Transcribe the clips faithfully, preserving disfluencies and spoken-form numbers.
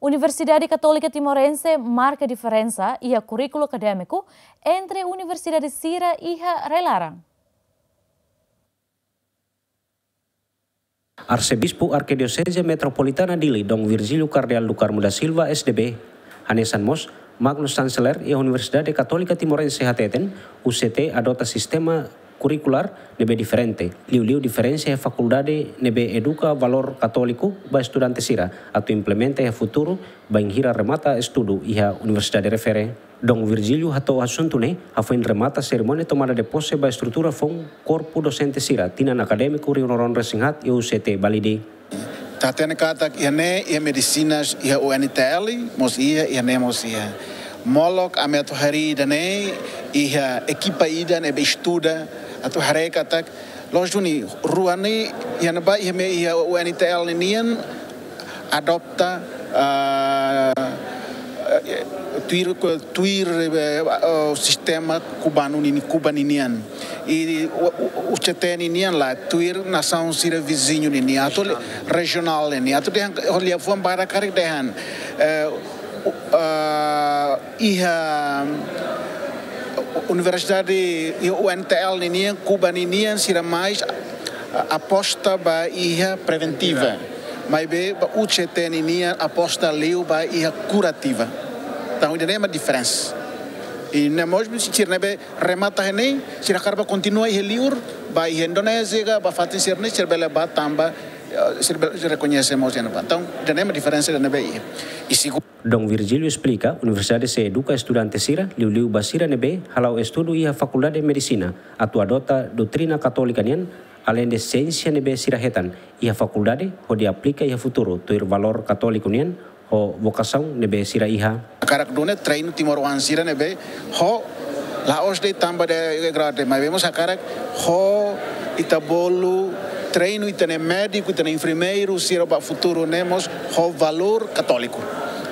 Universidade Katólika Timorense marka diferensa iha kurríkulu akadémiku entre universidade sira iha rai-laran. Arsebispu Arkidioseze Metropolitana Dili, Dom Virgílio Kardeál do Carmo da Silva, S D B, hanesan mós Magnus Chancellor iha Universidade Katólika Timorense hateten, U C T adota sistema kurrikulár ne'ebé diferente, liuliu diferensa iha fakuldade ne'ebé eduka valór katóliku ba estudante sira, atu implementa iha futuru bainhira remata estudu iha universidade refere. Dom Virgílio hato'o asuntu ne'e hafoin remata serimónia tomada de posse ba estrutura foun korpu dosente sira tinan akadémiku rihun rua ruanulu-resin-haat iha U C T Balide. Ita hatene katak iha ne'e iha medisinas, iha U N T L mós iha, iha ne'e mós iha. Molok ami atu harii ida-ne'e, iha ekipa ida ne'ebé estuda atu haree katak, loos duni, rua ne'e iha ne'ebá, iha mehi iha U N T L ninian adopta, ah, eh, tuir, tuir, eh, eh, sistema kubanu nini, Kuba ninian. I U, U, U C T ninian lae, tuir nasaun sira viziñu ninian, atu le-, rejionál ninian, atu dehan, ho liafuan badak karik dehan, eh, u-, eh, iha universidade, iha U N T L ninian, Kuba ninian, sira mais, ah, aposta ba iha preventiva. Maibé ba U C T ninian aposta liu ba iha kurativa. Entaun, ida-ne'e mak diferensa. I ne'e mós sira ne'ebé remata iha ne'e, sira hakarak ba kontinua iha liur, ba iha Indonézia ka, ba fatin sira-ne'e, sira bele ba tanba, eh, sira bele, sira rekoñese mós iha ne'ebá. Entaun, ida-ne'e mak diferensa ida ne'ebé iha. I segundu, Dom Virgílio esplika, universidade sei eduka estudante sira, liuliu ba sira ne'ebé hala'o estudu iha Fakuldade Medisina, atu adota doutrina katólika nian, aleinde siénsia ne'ebé sira hetan iha fakuldade, hodi aplika iha futuru, tuir valór katóliku nian, ho vokasaun ne'ebé sira iha. Hakarak duni treinu timoroan sira ne'ebé ho, la'ós de'it tanba de'it grau de'it, maibé mós hakarak ho ita bolu treinu ita-nia médiku, ita-nia enfermeiru sira ba futuru ne'e mós ho valór katóliku.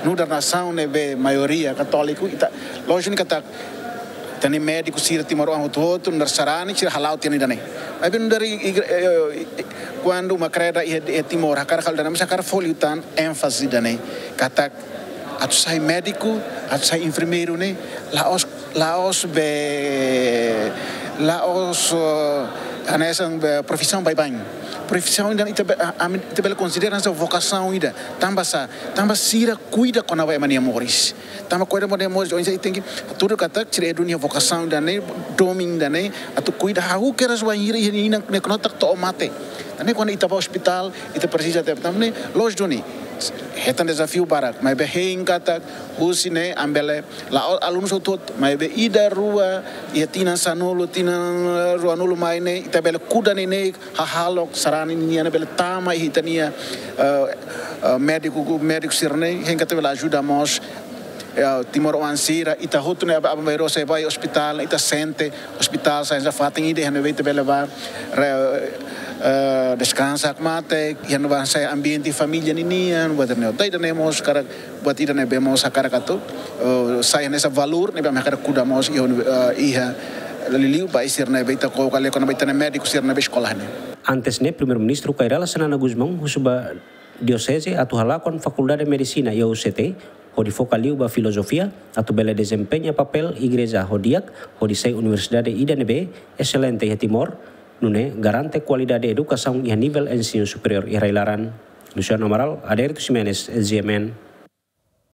Nu'udar nasaun ne'ebé maioria katóliku, ita, loos duni katak ita-nia médiku sira timoroan hotu-hotu, nu'udar sarani, sira hala'o tiha ona ida-ne'e. Maibé nu'udar i, i, eh, eh, kuandu uma kreda iha, iha Timor, hakarak halo ida-ne'e, mas hakarak fó liután énfaze ida-ne'e. Katak atu sai médiku, atu sai enfermeiru ne'e, la'ós, la'ós be, la'ós, eh, hanesan be profisaun baibain. Profisaun ida ita be, a, ami, ita bele konsidera hanesan vokasaun ida. Tanba sá, tanba sira kuida kona-ba ema nia moris. Tanba kuida kona-ba ema nia moris, oinsá ita tenke hatudu katak sira iha duni iha vokasaun ida-ne'e, domin ida-ne'e, atu kuida hahú kedas bainhira iha nia inan ne'e knotak to'o mate. Ida-ne'e kuandu ita ba ospitál, ita presiza te, tanba ne'e, loos duni, hetan dezafiu barak, maibé hein katak, husi ne'e, ami bele, la'ós alunus hotu-hotu, maibé ida rua, iha tinan sanulu, tinan, eh, ruanulu mai ne'e, ita bele kuda neineik hahalok, sarani nian bele tama iha ita-nia, eh, eh, médiku, médiku sira-ne'e, hein katak bele ajuda mós, eh, timoroan sira, ita hotu ne'e aban-bainrua sei ba iha ospitál, ita sente, ospitál sai hanesan fatin ida iha ne'ebé ita bele ba, re-, eh, deskansa hakmatek, iha ne'ebá sai ambiente família ninian, buat ne'e. Ida-ne'e mós hakarak, buat ida ne'ebé mós hakarak atu, eh, sai hanesan valór ne'ebé ami hakarak kuda mós iha uni-, eh, iha liuliu ba sira ne'ebé ita koko kali kona-ba ita-nia médiku sira ne'ebé eskola ne'e. Antes ne'e, Primeiru-Ministru Kay Rala Xanana Gusmão husu ba dioseze atu halakon Fakuldade Medisina iha U C T, hodi foka liu ba filozofia, atu bele dezempeña papél igreja ho di'ak, hodi sai universidade ida ne'ebé eselente iha Timor, nune'e garante kualidade edukasaun iha nivel ensinu superiór iha rai-laran. Luciano Amaral, Adérito Ximenes, G M N.